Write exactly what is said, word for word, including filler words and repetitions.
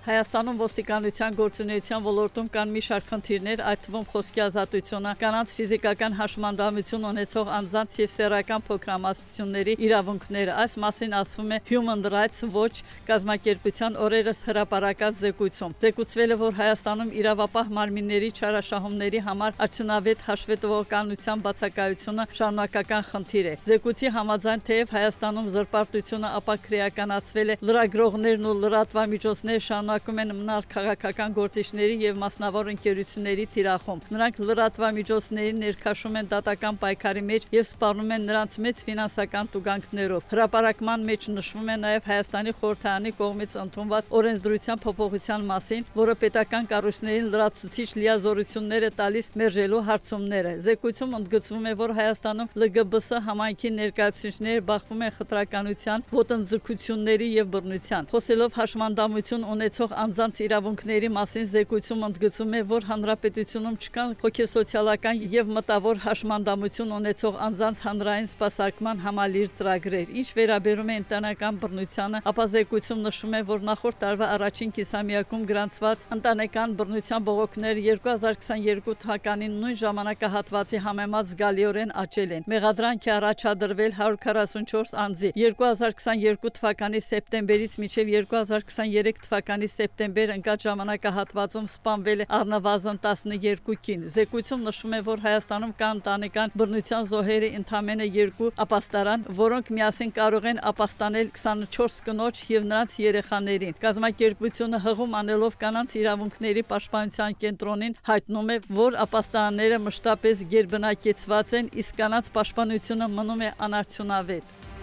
Հայաստանում ոստիկանության գործունեության ոլորտում կան մի շարք խնդիրներ, այդ թվում խոսքի ազատությունը, կանանց ֆիզիկական հաշմանդամություն ունեցող անձանց եւ սեռական փոքրամասնությունների իրավունքները։ Այս մասին ասվում է Human Rights Watch կազմակերպության օրերս հրապարակած զեկույցում։ Զեկուցվել է, որ Հայաստանում իրավապահ մարմինների չարաշահումների համար արդյունավետ հաշվետվողականության բացակայությունը շարունակական խնդիր է։ Զեկույցի համաձայն, թեև Հայաստանում զրպարտությունը ապաքրեականացվել է, լրագրողներն ու լրատվամիջոցները շարունակում են մնալ քաղաքական գործիչների եւ մասնավոր ընկերությունների թիրախում։ Նրանք լրատվամիջոցներին ներքաշում են դատական պայքարի մեջ եւ սպառնում են նրանց մեծ ֆինանսական տուգանքներով։ Հրապարակման մեջ նշվում է նաեւ Հայաստանի խորհրդարանի կողմից ընդունված օրենսդրության փոփոխության մասին, որը պետական կառույցներին լրացուցիչ լիազորություններ է տալիս մերժելու հարցումները։ Զեկույցում ընդգծվում է, որ Հայաստանում L G B S համայնքի ներկայացուցիչները բախվում են խտրականության, ոտնձգությունների եւ բռնության։ Խոսելով հաշմանդամություն ունեցող անձանց իրավունքների մասին, զեկույցում ընդգծում է, որ հանրապետությունում չկան հոգեսոցիալական եւ մտավոր հաշմանդամություն ունեցող անձանց հանրային սպասարկման համալիր ծրագրեր։ Ինչ վերաբերում է ընտանեկան բռնությանը, ապա զեկույցում նշվում է, որ նախորդ տարվա առաջին կիսամյակում գրանցված ընտանեկան բռնության բողոքները երկու հազար քսաներկու թվականին նույն ժամանակահատվածի համեմատ զգալիորեն աճել են։ Մեղադրանք է առաջադրվել հարյուր քառասունչորս անձի։ երկու հազար քսաներկու թվականի սեպտեմբերից մինչև երկու հազար քսաներեք թվականի սեպտեմբեր ընկած ժամանակահատվածում սպանվել է առնվազն տասներկու կին։ Զեկույցում նշվում է, որ Հայաստանում կան ընտանեկան բռնության զոհերի ընդամենը երկու ապաստարան, որոնք միասին կարող են ապաստանել քսանչորս կնոջ եւ նրանց երեխաներին։ Կազմակերպությունը հղում անելով կանանց իրավունքների պաշտպանության կենտրոնին հայտնում է, որ ապաստարանները մշտապես գերբնակեցված են, իսկ կանանց պաշտպանությունը մնում է անարդյունավետ։